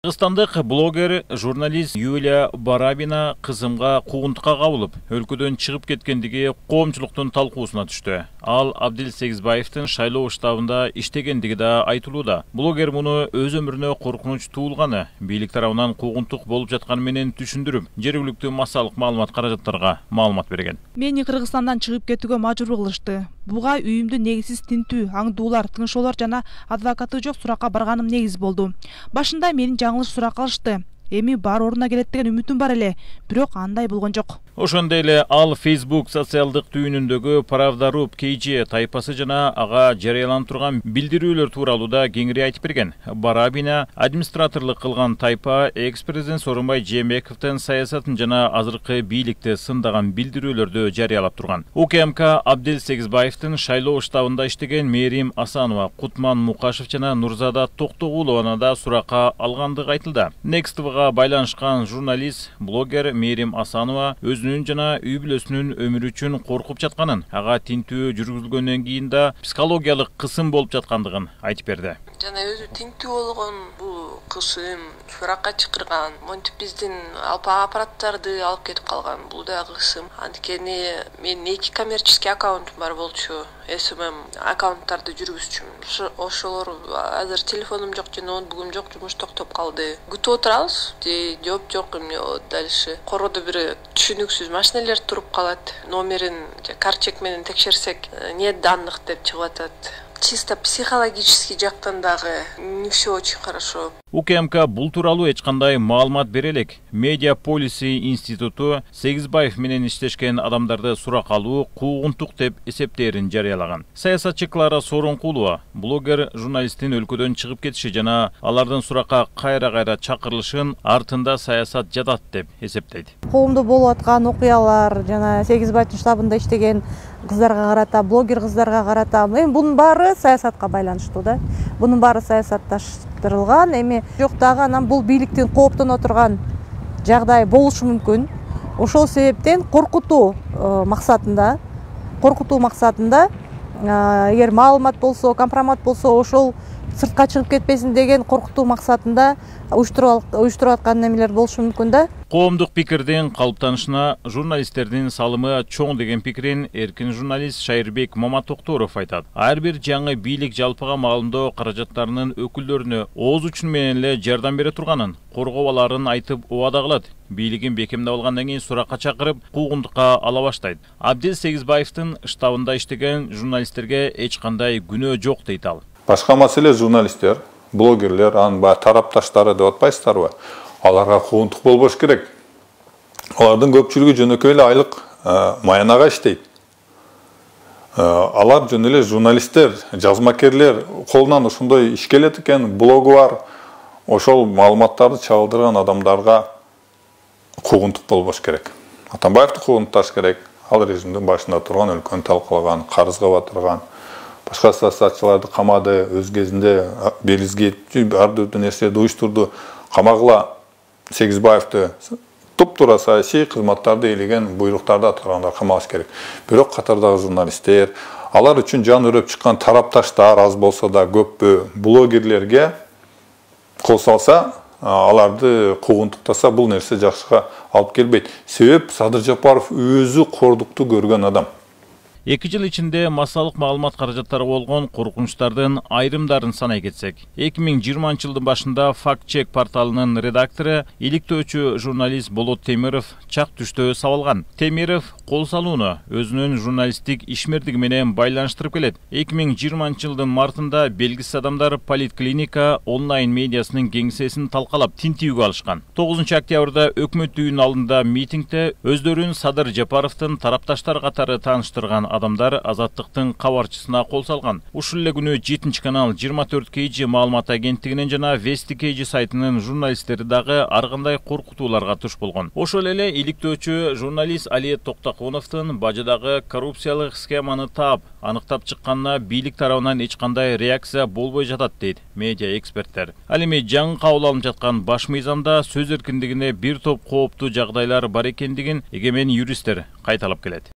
Кыргызстандык блогер, журналист Юлия Барабина кызымга куугунтукка кабылып, өлкөдөн чыгып кеткендиги коомчулуктун талкуусуна түштү. Ал Абдил Сегизбаевдин шайлоо штабында иштегендиги да айтылууда. Блогер муну өз өмүрүнө коркунуч туулганы, бийлик тарабынан куугунтук болуп жатканы менен түшүндүрүп, жергиликтүү массалык маалымат каражаттарга маалымат берген. Мени Кыргызстандан чыгып кетүүгө мажбур кылышты. Буга үйүмдү негизсиз тинтүү, аңдуулар, тыңшоолор жана адвокаты жок суракка барганым негиз болду. Башында мени жаңылыш сурак кылышты. Эми бар ордуна келет деген үмүтүм бар эле, бирок андай болгон жок. Ошондой эле ал Facebook социалдык түйүнүндөгү Правда.ру KG тайпасы жана ага жарыяланып турган билдирүүлөр тууралуу да кеңири айтып берген. Барабина администраторлук кылган тайпа экс-президент Сооронбай Жээнбековдун саясатын жана азыркы бийликти сындаган билдирүүлөрдү жарыялап турган. УКМК Абдил Сегизбаевдин шайлоо штабында иштеген Мээрим Асанова, Кутман Мукашев жана Нурзада Токтогулованы да суракка алгандыгы айтылды. Next TV'га байланышкан журналист, блогер Мээрим Асанова өзүнүн жана үй бүлөсүнүн өмүрү үчүн коркуп жатканын, ага тинтүү жүргүзүлгөндөн кийин да психологиялык кысым болуп жаткандыгын айтып берди. Жана өзү тинтүү болгон бул кысым суракка чакырган, монтип биздин аппараттарды алып кетип калган, бул да кысым. Анткени менин 2 коммерческий аккаунтум бар болчу. СММ аккаунттарды жүргүзчүмүн. Ошолор азыр телефонум жок жана ноутбугум жок, жумуш токтоп калды. Күтүп отурабыз, жооп жок. Эмне дальше? Кородо бир түшүнүксүз машиналер туруп калат. Номерин карт чек менен текшерсек, нет данных деп чыгып атат. Чисто психологический жактан дагы не все очень хорошо. УКМК бул тууралуу эч кандай маалымат бере элек. Медиа Policy институту Сегизбаев менен иштешкен адамдарды сурак алуу куугунтук деп эсептээрин жарыялаган. Саясатчы Клара Сооронкулова блогер журналисттин өлкөдөн чыгып кетиши жана алардын суракка кайра чакырылышын артында саясат жатат деп эсептейт. Коомдо болуп аткан окуялар жана Сегизбаевдин штабында иштеген кыздарга карата, блогер кыздарга карата, эми бунун баары саясатка байланыштуу да. Бунун баары саясатташтырылган, эми жок дагы анан бул бийликтин кооптоно турган жагдай болушу мүмкүн. Ошол себептен коркутуу максатында, эгер маалымат болсо, компромат болсо, ошол сыртка чыгып кетпесин деген коркутуу максатында уюштуруп аткан немелер болушу мүмкүн да. Коомдук пикирдин калыптанышына журналисттердин салымы чоң деген пикирин эркин журналист Шайырбек Маматокторов айтат. Ар бир жаңы бийлик жалпыга маалымдоо каражаттарынын өкүлдөрүнө ооз учун менен эле жардам бере турганын, коргоо аларын айтып убада кылат. Бийлигин бекемдеп алгандан кийин суракка чакырып, куугунтукка ала баштайт. Абдил Сегизбаевдин штабында иштеген журналисттерге эч кандай күнөө жок дейт ал. Башка маселе журналисттер, блогерлер, анын тарапташтары деп атпайсыздарбы? Аларга куугунтук болбош керек. Алардын көпчүлүгү жөнөкөй эле айлык маянага иштейт. Алар жөн эле журналисттер, жазмакерлер, колунан ошондой иш келет экен, блогу бар. Ошол маалыматтарды чагылдырган адамдарга куугунтук болбош керек. Атамбаевди куугунташ керек. Ал режимдин башында турган, өлкөнү талкалаган, карызга батырган, башка саясатчыларды камады, өз кезинде белизге ар түрдүү нерселерди уюштурду. Камагыла Сегизбаевди туп-туура саясий кызматтарды ээлеген, буйруктарды аткаргандар камалыш керек. Бирок катардагы журналисттер, алар үчүн жан өрөп чыккан тарапташтар аз болсо да көппү блогерлерге кол салса, аларды куугунтуктаса, бул нерсе жакшыга алып келбейт. Себеп Садыр Жапаров өзү кордукту көргөн адам. 2 жыл ичинде массалык маалымат каражаттары болгон коркунучтардын айрымдарын санай кетсек, 2020 жылдын башында Fact-Check порталынын редактору, иликтөөчү журналист Болот Темиров чак түштө сабалган. Темиров кол салууну өзүнүн журналисттик ишмердиги менен байланыштырып келет. 2020 жылдын мартында белгисиз адамдар Политклиника онлайн медиасынын кеңсесин талкалап тинтүүгө алышкан. 9 октябрда өкмөт үйүнүн алдында митингде өздөрүн Садыр Жапаровдун тарапташтар катары тааныштырган адамдар Азаттыктын кабарчысына кол салган. Ушул эле күнү 7 канал 24 KG маалымат агенттигинин жана Вести KG сайтынын журналисттери дагы ар кандай коркутууларга туш болгон. Ошол эле иликтөөчү журналист Али Токтокуновдун бажыдагы коррупциялык схеманы таап, аныктап чыкканына бийлик тарабынан эч кандай реакция болбой жатат дейт медиа эксперттер. Ал эми жаңы кабыл алынып жаткан баш мыйзамда сөз эркиндигине бир топ кооптуу жагдайлар бар экендигин эгемен юристтер кайталап келет.